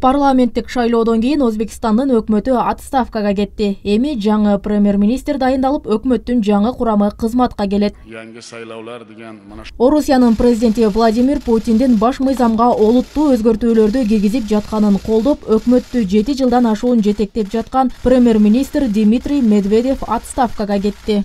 Парламенттик шайлоодон кийин Өзбекстандын өкмөтү отставкага кетти. Эми жаңы премьер-министр дайындалып, өкмөттүн жаңы курамы кызматка келет. Орусиянын президенти Владимир Путиндин баш мыйзамга олуттуу өзгөртүүлөрдү киргизип жатканын колдоп, өкмөттү 7 жылдан ашуун жетектеп жаткан премьер-министр Дмитрий Медведев отставкага кетти.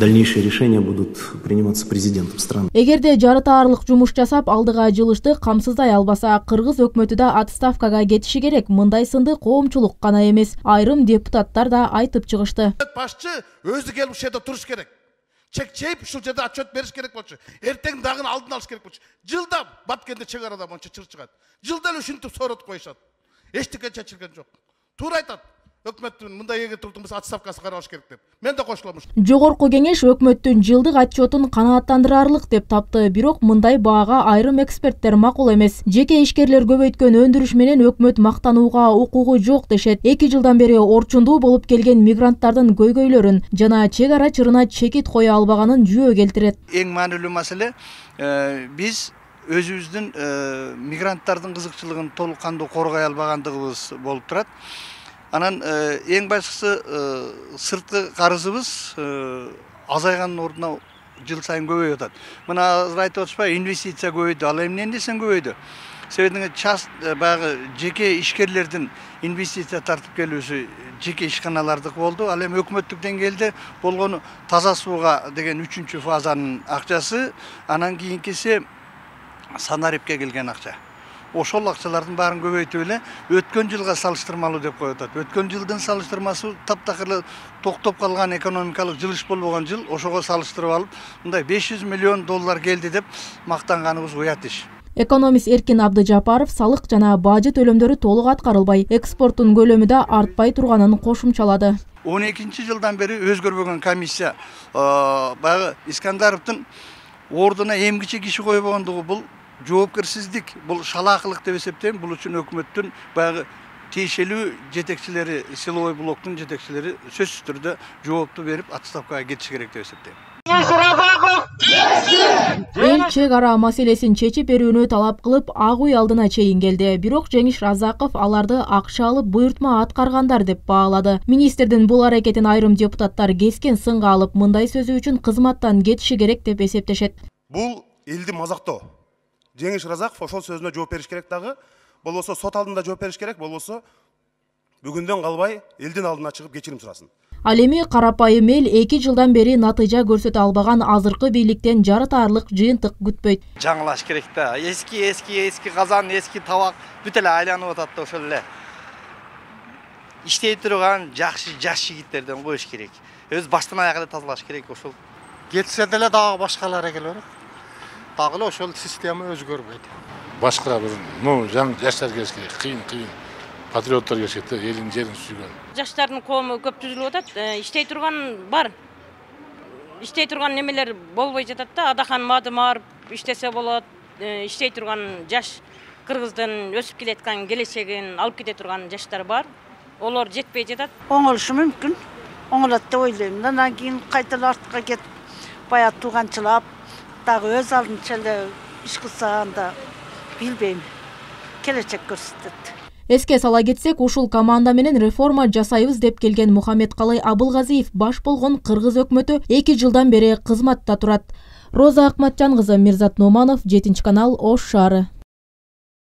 Дальнейшие решения будут приниматься президентом страны. Эгерде жарытаарлык жумуш жасап, алдыга жылышты камсыздай албаса, кыргыз өкмөтү да отставкага кетиши керек. Мындай сынды коомчулук гана эмес, айрым депутаттар да айтып чыгышты. Башчы өзү келип ушул жерде туруш керек. Чек-чейип ушул жерде отчет бериш керек болчу. Эртең дагы алдын алыш керек болчу. Жылда Баткенде чек арада монча чыр чыгат. Жылда эле ушинтип сооротуп коюшат. Эчтеке чечилген жок. Туура айтат. Өкмөттүн мындай эге турдумбуз отставкасы каралыш керек деп. Мен да кошулам. Жогорку кеңеш өкмөттүн жылдык отчетун канааттандырарлык деп тапты, бирок мындай баага айрым эксперттер макул эмес. Жеке ишкерлер көбөйткөн өндүрүш менен өкмөт мактанууга укугу жок дешет. 2 жылдан бери орчундуу болуп келген мигранттардын көйгөйлөрүн жана чек ара чырына чекит кое албаганын жүйө келтирет. Эң маанилүү маселе биз өзүбүздүн мигранттардын кызыкчылыгын толук кандуу коргой албагандыгыбыз болуп турат. Анан эң башкысы сырткы карызыбыз азайганын ордуна жыл сайын көбөйүп атат. Мына азыр айтып атышпайбы, инвестиция көбөйдү. Ал эмнен десең көбөйдү. Себеби баягы жеке ишкерлердин инвестиция тартып келүүсү жеке ишканалардык болду. Ал эми өкмөттүк деңгээлде болгону таза сууга деген 3-чү фазанын акчасы, анан кийинкиси Санарипке келген акча. Ошол акчалардын баарын көбөйтүп эле өткөн жылга салыштырмалуу деп коюп атат. Өткөн жылдын салыштырмасы таптакыр токтоп калган экономикалык жылыш болбогон жыл, ошого салыштырып алып, мындай $500 миллион келди деп мактанганыбыз уят иш. Экономист Эркин Абдыжапаров салык жана бажы төлөмдөрү толук аткарылбай, экспорттун көлөмү да артпай турганын кошумчалады. 12-жылдан бери өзгөрбөгөн комиссия баягы Искандаровдун ордуна эмгиче киши койбогондугу бул жоопкерсиздик, бул шалаакылык деп эсептейм. Бул үчүн өкмөттүн баягы тиешелүү жетекчилери, силовой блоктун жетекчилери сөзсүз түрдө жоопту берип отставкага кетиши керек деп эсептейм. Эл чек ара маселесин чечип берүүнү талап кылып, Ак үй алдына чейин келди. Бирок Жеңиш Разаков аларды акча алып буйртма аткаргандар деп баалады. Министрдин бул аракетин айрым депутаттар кескен сынга алып, мындай сөзү үчүн кызматтан кетиши керек деп эсептешет. Бул элди мазактоо. Жеңиш Разаков ошол сөзүнө жооп бериш керек дагы. Болбосо сот алдында жооп бериш керек, болбосо бүгүндөн калбай элдин алдына чыгып кечирим сурасын. Ал эми карапайым эл 2 жылдан бери натыйжа көрсөтө албаган азыркы бийликтен жарытаарлык жыйынтык күтпөйт. Жаңылаш керек да. Эски казан, эски табак бүт эле айланып атат да, ошол эле. Иштей турган жакшы жаш жигиттерден коюш керек. Өз баштан аяк эле тазалаш керек ошол. Кетсе деле дагы башкалар келип атат. Дагы эле ошол система өзгөрбөйт. Башка бир, жаңы жаштар келиш керек, кыйын. Патриоттор келиш керек, элин жерин сүйгөн. Жаштардын коому көп түзүлүп атат. Иштей турган бар. Иштей турган немелер болбой жатат да. Адахан маадым арып иштесе болот. Иштей турган жаш кыргыздын өсүп келаткан келечегин алып кете турган жаштар бар. Олор жетпей жатат. Оңолушу мүмкүн. Оңолот деп ойлойм. Андан кийин кайта артка кетип, баягы тууганчылап, дагы өз алдынча эле иш кылсаганда билбейм. Келечек көрсөтөт. Эске сала кетсек, ушул команда менен реформа жасайбыз деп келген Мухаммедкалый Абылгазиев баш болгон кыргыз өкмөтү 2 жылдан бери кызматта турат. Роза Акматжан кызы, Мирзат Нуманов, 7 канал, Ош шаары.